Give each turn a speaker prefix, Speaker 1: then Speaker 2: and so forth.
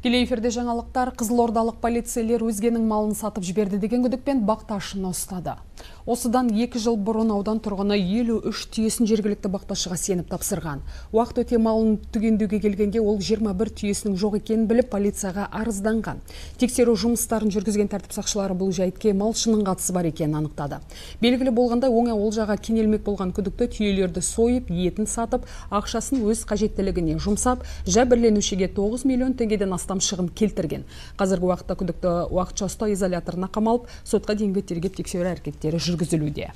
Speaker 1: Тікелей эфирде жаңалықтар. Қызылордалық полицейлер өзгенің малын сатып жіберді деген күдікпен бақташыны ұстады. Осыдан 2 жыл бұрын аудан тұрғыны 53 түйесін жергілікті бақташыға сеніп тапсырған. Уақыт өте малын түгендеуге келгенде ол 21 түйесінің жоқ екенін біліп полицияға арызданған. Тексеру жұмыстарын жүргізген тәртіп сақшылары бұл жайтке малшының қатысы бар екенін анықтады. Белгілі болғандай оңай олжаға кенелмек болған күдікті түйелерді сойып, етін сатып, ақшасын өз қажеттілігіне жұмсап, жәбірленушіге 9 миллион теңгеден астам шығын келтірген. Қазіргі уақытта күдікті уақытша ұстау изоляторына қамалып, сотқа дейінгі тергеп тексеру әрекеттері жүргізілуде.